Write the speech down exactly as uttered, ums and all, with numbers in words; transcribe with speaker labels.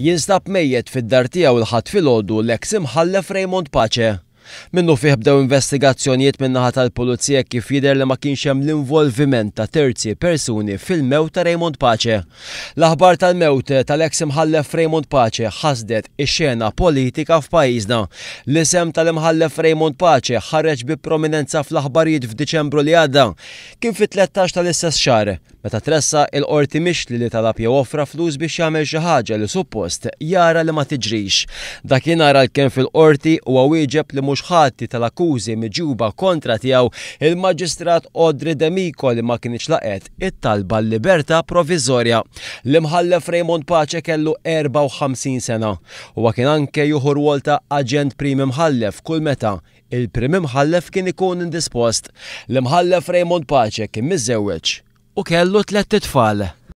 Speaker 1: Jinstab mejjet fid-dar tiegħu l-Ħadd filgħodu l-eks Imħallef Raymond Pace. Minnufih bdew investigazzjonijiet min-naħa tal-Pulizija kif jidher li ma kienx hemm l-involviment ta' terzi persuni fil-mewt ta' Raymond Pace. L-aħbar tal-mewt tal-eks Imħallef Raymond Pace ħasdet ix-xena politika f'pajjiżna. L-isem tal-Imħallef Raymond Pace ħareġ bi prominenza fl-aħbarijiet f'Diċembru li għadda. Kien fit-tlettax tal-istess xahar meta tressaq il-qorti mixli li talab jew offra flus biex jagħmel xi ħaġa li suppost jara li ma tiġrix. Dakinhar għalkemm fil-qorti huwa wieġeb li mhux ħati tal-akkużi miġjuba kontra tiegħu, il-Maġistrat Audrey D'Amico li ma kienx laqgħet it-talba libertà provviżorja. L-Imħallef Raymond Pace kellu erbgħa u ħamsin sena. Huwa kien anke jieħu rwol ta' aġent prim imħallef kull meta il-prim imħallef kien ikun indispost. L-Imħallef Raymond Pace kien miżżewweġ u kellu tlett itfal.